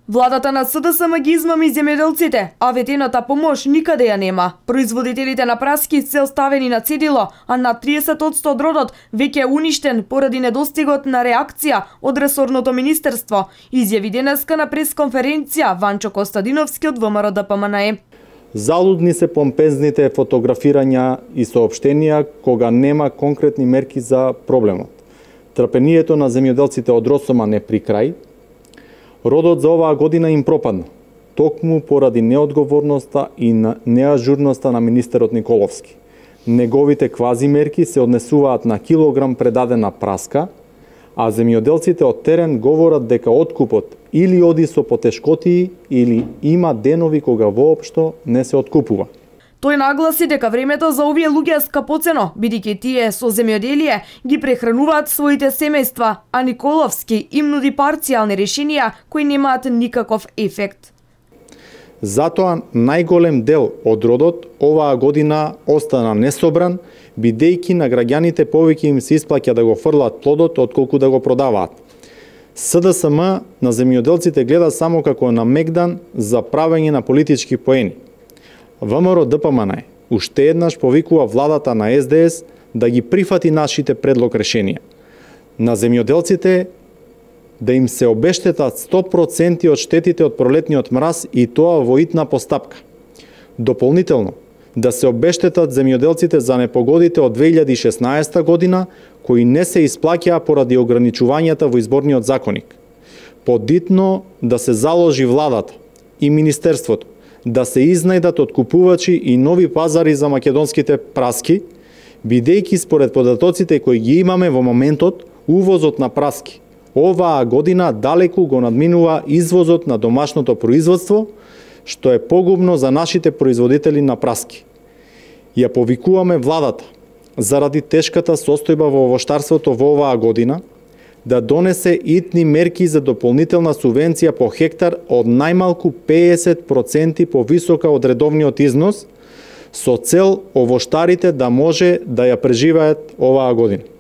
Владата на СДСМ ги измами земјоделците, а ветената помош никаде ја нема. Производителите на праски се оставени на цедило, а на 30% од родот веќе е уништен поради недостигот на реакција од ресорното министерство, изјави денеска на пресконференција Ванчо Костадиновски од ВМРО-ДПМНЕ. Залудни се помпезните фотографирања и соопштенија кога нема конкретни мерки за проблемот. Трпението на земјоделците од Росома не при крај. Родот за оваа година им пропадна, токму поради неодговорноста и неажурноста на министерот Николовски. Неговите квази мерки се однесуваат на килограм предадена праска, а земјоделците од терен говорат дека откупот или оди со потешкотии или има денови кога воопшто не се откупува. Тој нагласи дека времето за овие луѓе е скапоцено, бидејќи тие со земјоделие ги прехрануваат своите семејства, а Николовски им нуди парцијални решенија кои немаат никаков ефект. Затоа најголем дел од родот оваа година остана несобран, бидејќи на граѓаните повеќе им се исплаќа да го фрлат плодот отколку да го продаваат. СДСМ на земјоделците гледа само како на мегдан за правење на политички поени. ВМРО-ДПМНЕ уште еднаш повикува владата на СДС да ги прифати нашите предлог решенија. На земјоделците да им се обештетат 100% од штетите од пролетниот мраз и тоа во итна постапка. Дополнително, да се обештетат земјоделците за непогодите од 2016 година кои не се исплаќаа поради ограничувањата во изборниот законник. Подитно да се заложи владата и министерството да се изнајдат откупувачи и нови пазари за македонските праски, бидејќи според податоците кои ги имаме во моментот, увозот на праски оваа година далеку го надминува извозот на домашното производство, што е погубно за нашите производители на праски. Ја повикуваме владата, заради тешката состојба во овоштарството во оваа година, да донесе итни мерки за дополнителна субвенција по хектар од најмалку 50% повисока од редовниот износ, со цел овоштарите да може да ја преживеат оваа година.